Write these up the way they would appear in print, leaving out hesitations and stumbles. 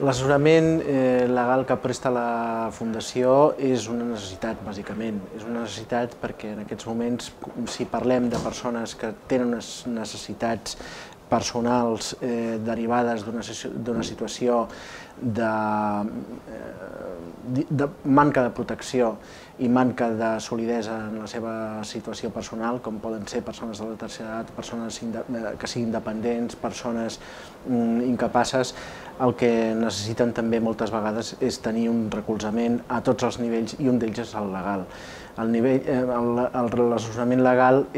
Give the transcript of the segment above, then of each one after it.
L'assessorament legal que presta la Fundació és una necessitat, bàsicament. És una necessitat perquè en aquests moments, si parlem de persones que tenen unes necessitats personals derivades d'una situació de manca de protecció i manca de solidesa en la seva situació personal, com poden ser persones de la tercera edat, persones que siguin dependents, persones incapaces, el que necessiten també moltes vegades és tenir un recolzament a tots els nivells i un d'ells és el legal. L'assessorament legal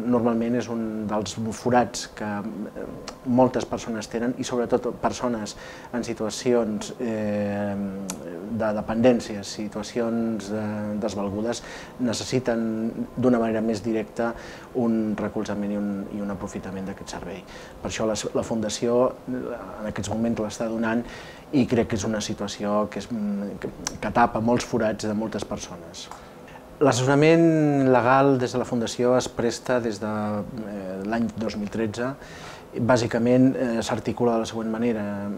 normalment és un dels forats que moltes persones tenen i sobretot persones en situacions de dependència, situacions desvalgudes, necessiten d'una manera més directa un recolzament i un aprofitament d'aquest servei. Per això la Fundació en aquests moments l'està donant i crec que és una situació que tapa molts forats de moltes persones. L'assessorament legal des de la Fundació es presta des de l'any 2013. Bàsicament s'articula de la següent manera.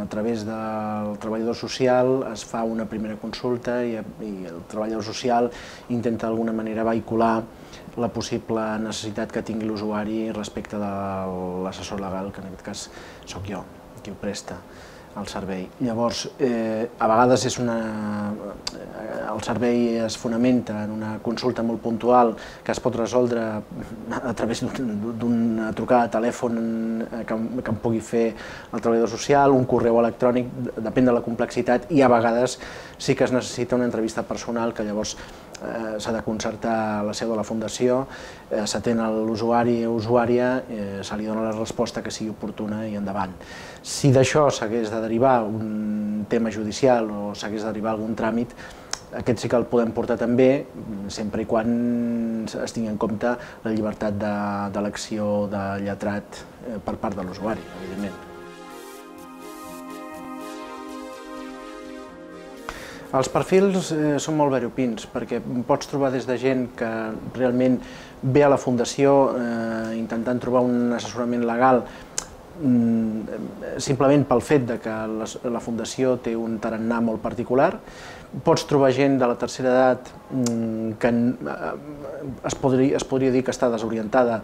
A través del treballador social es fa una primera consulta i el treballador social intenta d'alguna manera vehicular la possible necessitat que tingui l'usuari respecte de l'assessor legal, que en aquest cas sóc jo, qui ho presta el servei. Llavors, a vegades el servei es fonamenta en una consulta molt puntual que es pot resoldre a través d'una trucada de telèfon que em pugui fer el treballador social, un correu electrònic, depèn de la complexitat, i a vegades sí que es necessita una entrevista personal que llavors s'ha de concertar a la seu de la Fundació, s'atén a l'usuari o usuària, se li dona la resposta que sigui oportuna i endavant. Si d'això s'hagués de derivar un tema judicial o s'hagués de derivar algun tràmit, aquest sí que el podem portar també, sempre i quan es tingui en compte la llibertat d'elecció de lletrat per part de l'usuari, evidentment. Els perfils són molt variopints, perquè pots trobar des de gent que realment ve a la Fundació intentant trobar un assessorament legal simplement pel fet que la Fundació té un tarannà molt particular. Pots trobar gent de la tercera edat que es podria dir que està desorientada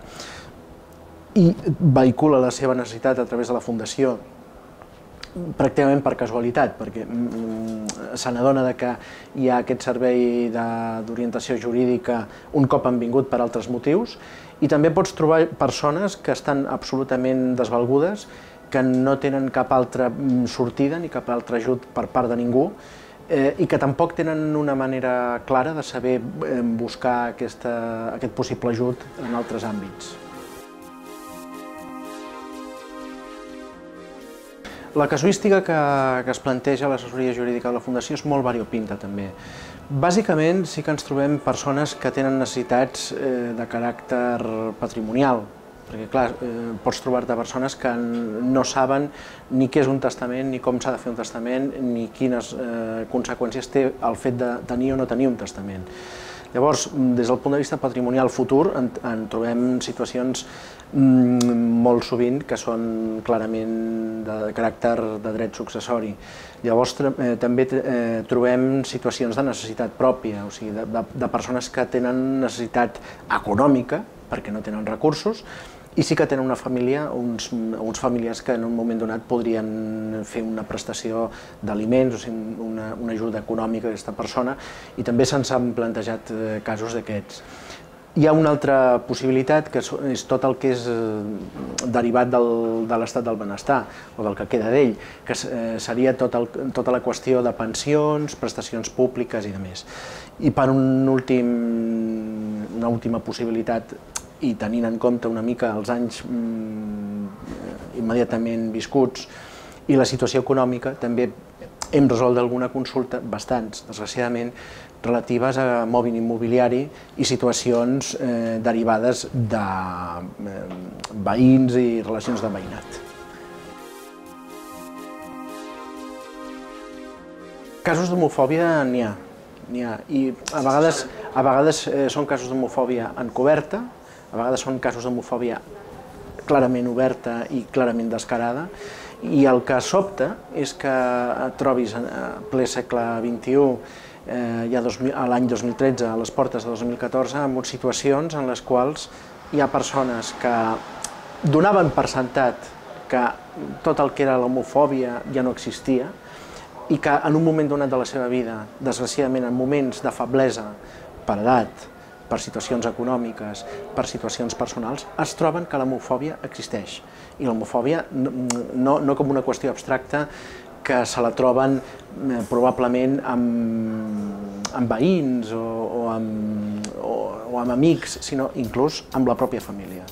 i vehicula la seva necessitat a través de la Fundació pràcticament per casualitat, perquè se n'adona que hi ha aquest servei d'orientació jurídica un cop han vingut per altres motius, i també pots trobar persones que estan absolutament desvalgudes, que no tenen cap altra sortida ni cap altre ajut per part de ningú i que tampoc tenen una manera clara de saber buscar aquest possible ajut en altres àmbits. La casuística que es planteja a l'assessoria jurídica de la Fundació és molt variopinta també. Bàsicament sí que ens trobem persones que tenen necessitats de caràcter patrimonial, perquè clar, pots trobar-te persones que no saben ni què és un testament, ni com s'ha de fer un testament, ni quines conseqüències té el fet de tenir o no tenir un testament. Llavors, des del punt de vista patrimonial futur, en trobem situacions molt sovint que són clarament de caràcter de dret successori. Llavors, també trobem situacions de necessitat pròpia, o sigui, de persones que tenen necessitat econòmica, perquè no tenen recursos, i sí que tenen una família, uns familiars que en un moment donat podrien fer una prestació d'aliments, o sigui, una ajuda econòmica a aquesta persona, i també se'ns han plantejat casos d'aquests. Hi ha una altra possibilitat, que és tot el que és derivat de l'estat del benestar, o del que queda d'ell, que seria tota la qüestió de pensions, prestacions públiques i demés. I per una última possibilitat, i tenint en compte una mica els anys immediatament viscuts i la situació econòmica, també hem resolt alguna consulta, bastants, desgraciadament, relatives a mòbil immobiliari i situacions derivades de veïns i relacions de veïnat. Casos d'homofòbia n'hi ha, i a vegades són casos d'homofòbia encoberta, a vegades són casos d'homofòbia clarament oberta i clarament descarada, I el que sobta és que et trobis en ple segle XXI, ja l'any 2013, a les portes de 2014, amb situacions en les quals hi ha persones que donaven per sentat que tot el que era l'homofòbia ja no existia i que en un moment donat de la seva vida, desgraciadament en moments de feblesa per edat, per situacions econòmiques, per situacions personals, es troben que l'homofòbia existeix. I l'homofòbia no com una qüestió abstracta que se la troben probablement amb veïns o amb amics, sinó inclús amb la pròpia família.